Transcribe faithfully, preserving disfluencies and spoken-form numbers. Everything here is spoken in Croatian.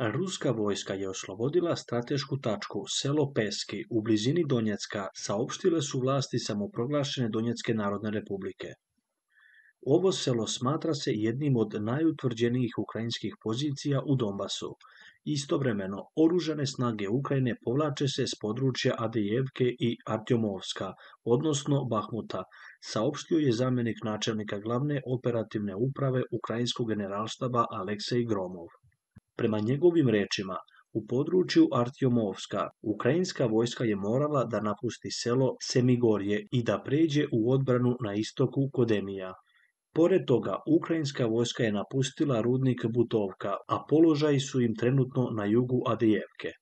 Ruska vojska je oslobodila stratešku tačku selo Peski u blizini Donjecka, saopštile su vlasti samoproglašene Donjecke narodne republike. Ovo selo smatra se jednim od najutvrđenijih ukrajinskih pozicija u Donbasu. Istovremeno, oružane snage Ukrajine povlače se s područja Adijevke i Artjomovska, odnosno Bahmuta, saopštio je zamjenik načelnika glavne operativne uprave Ukrajinskog generalštaba Aleksej Gromov. Prema njegovim rečima, u području Artjomovska ukrajinska vojska je morala da napusti selo Semigorje i da pređe u odbranu na istoku Kodemija. Pored toga, ukrajinska vojska je napustila rudnik Butovka, a položaji su im trenutno na jugu Adijevke.